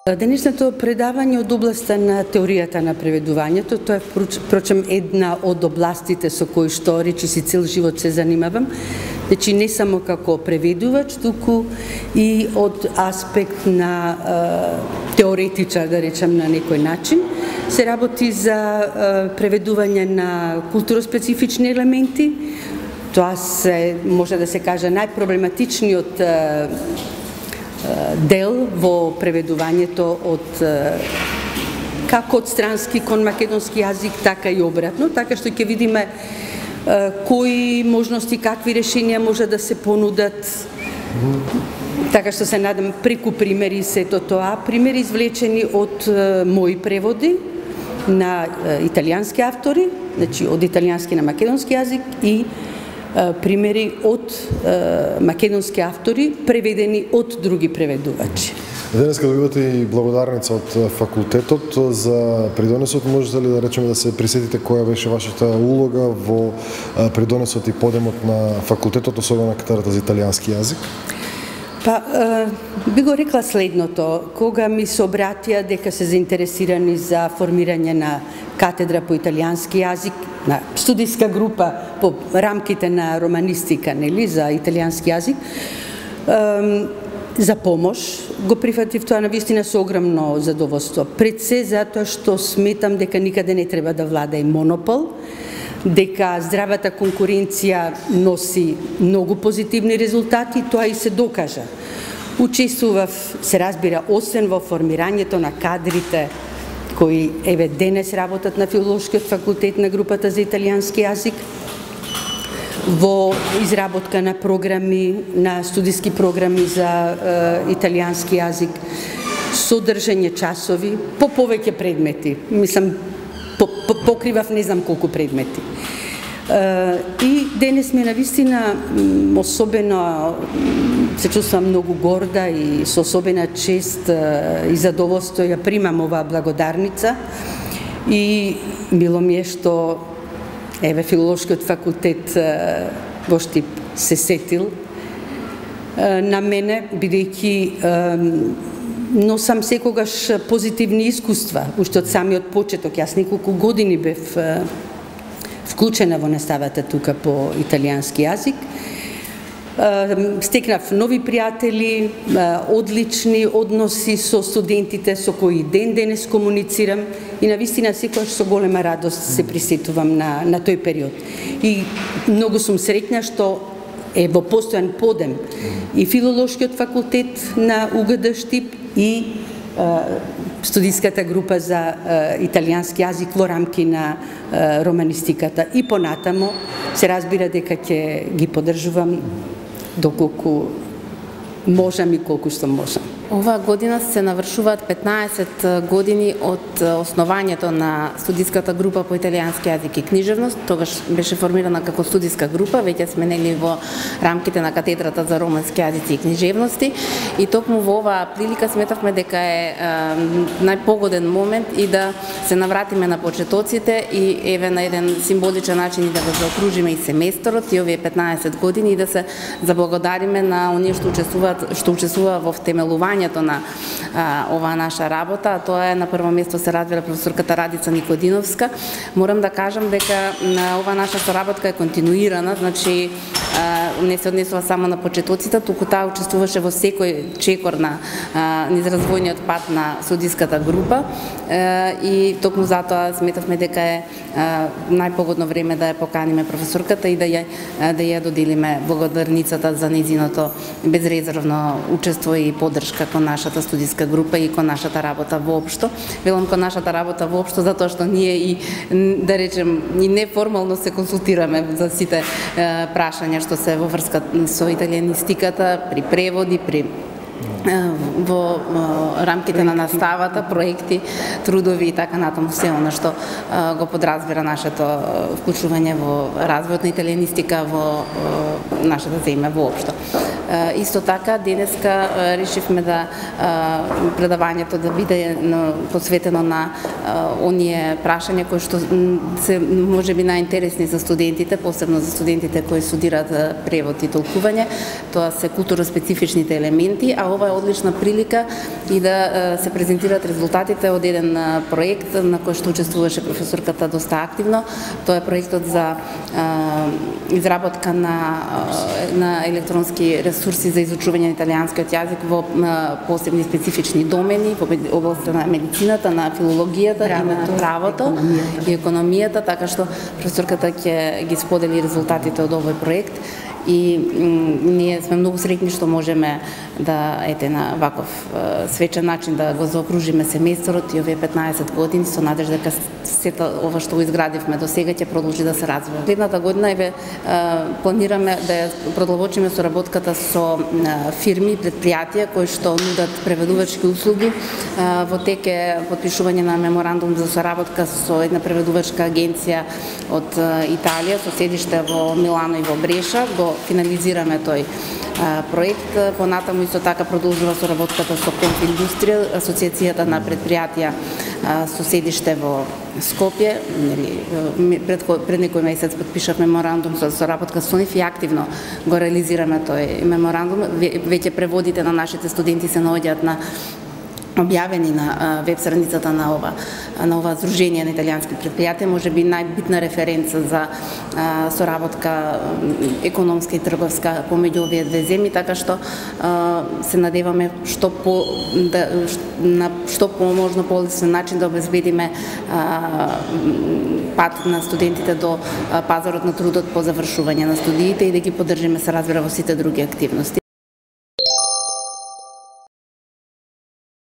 Денешното предавање од областа на теоријата на преведувањето, тоа е впрочем една од областите со кои што речиси цел живот се занимавам. Значи не само како преведувач, туку и од аспект на теоретичар, да речем на некој начин. Се работи за преведување на културоспецифични елементи. Тоа се може да се каже најпроблематичниот дел во преведувањето од како од странски кон македонски јазик, така и обратно, така што ќе видиме кои можности, какви решенија може да се понудат. Така што се надам преку примери сето тоа, примери извлечени од мои преводи на италијански автори, значи од италијански на македонски јазик и примери од македонски автори преведени од други преведувачи. Денеска добивате и благодарница од факултетот за придонесот. Можете ли да речеме да се присетите која беше вашата улога во придонесот и подемот на факултетот, особено на катедрата за италијански јазик? Па, би го рекла следното. Кога ми се обратија дека се заинтересирани за формирање на катедра по италијански јазик, на студиска група по рамките на романистика, нели, за италијански јазик, за помош, го прифатив тоа навистина со огромно задоволство. Пред се затоа што сметам дека никаде не треба да влада и монопол, дека здравата конкуренција носи многу позитивни резултати, тоа и се докажа. Учествував, се разбира, освен во формирањето на кадрите кои еве денес работат на Филолошкиот факултет на групата за италијански јазик, во изработка на програми, на студиски програми за италијански јазик, содржање часови, по повеќе предмети. Мислам, покривав не знам колку предмети. И денес ми навистина особено се чувствам многу горда и со особена чест и задоволство ја примам оваа благодарница и мило ми е што еве Филолошкиот факултет во Штип се сетил на мене, бидејќи носам секогаш позитивни искуства, уште од самиот почеток. Јас неколку години бев вклучена во наставата тука по италијански јазик. Стекнав нови пријатели, одлични односи со студентите со кои ден денес комуницирам и навистина секогаш со голема радост се присетувам на тој период. И многу сум среќна што е во постојан подем и Филолошкиот факултет на УГД Штип и студиската група за италијански јазик во рамки на романистиката. И понатамо се разбира дека ќе ги поддржувам доколку можам и колку што можам. Оваа година се навршуваат 15 години од основањето на студиската група по италијански јазик и книжевност. Тогаш беше формирана како студиска група, веќе сме нели во рамките на катедрата за романски јазици и книжевности. И токму во оваа прилика сметавме дека е најпогоден момент и да се навратиме на почетоците и еве на еден символичен начин и да го заокружиме и семесторот и овие 15 години и да се заблагодариме на оние што учествува во втемелување на оваа наша работа, а тоа е на прво место се разбира професорката Радица Никодиновска. Морам да кажам дека оваа наша соработка е континуирана, значи не се однесува само на почетоците, туку таа учествуваше во секој чекор на низ развојниот пат на студиската група и токму затоа сметавме дека е најпогодно време да ја поканиме професорката и да ја доделиме благодарницата за нејзиното безрезервно учество и поддршка кон нашата студиска група и кон нашата работа воопшто. Велам кон нашата работа воопшто затоа што ние и да речем и неформално се консултираме за сите прашања што се во врска со италијанистиката, при преводи, при во рамките на наставата, проекти, трудови и така натаму, се она што го подразбира нашето вклучување во развојот на италијанистика во нашата земја воопшто. Исто така, денеска решивме да предавањето да биде посветено на оние прашања кои што се можеби најинтересни за студентите, посебно за студентите кои студираат превод и толкување. Тоа се културно-специфичните елементи, а ова е одлична прилика и да се презентираат резултатите од еден проект на кој што учествуваше професорката доста активно. Тоа е проектот за изработка на електронски ресурси за изучување на италијанскиот јазик во посебни специфични домени, во областта на медицината, на филологијата и на правото и економијата, така што професорката ќе ги сподели резултатите од овој проект. И ние сме многу среќни што можеме да на ваков свечен начин да го заокружиме семејството и овие 15 години со надежда дека сето ова што го изградивме до сега ќе продолжи да се развива. Следната година планираме да продолжиме соработката со фирми и предпријатија кои што нудат преведувачки услуги. Во тек е потпишување на меморандум за соработка со една преведувачка агенција од Италија со седиште во Милано и во Бреша. Го финализираме тој проект. Понатаму исто така продолжува соработката со Конфиндустрија, асоциацијата на предпријатија со седиште во Скопје. Пред некој месец подпишав меморандум за соработка со нив и активно го реализираме тој меморандум. Веќе преводите на нашите студенти се наоѓаат на објавени на веб страницата на ова Сдружение на италијански предпријатија, можеби најбитна референца за соработка економска и трговска помеѓу овие две земји, така што се надеваме на што можно полесен начин да обезбедиме пат на студентите до пазарот на трудот по завршување на студиите и да ги поддржиме, се разбира, во сите други активности.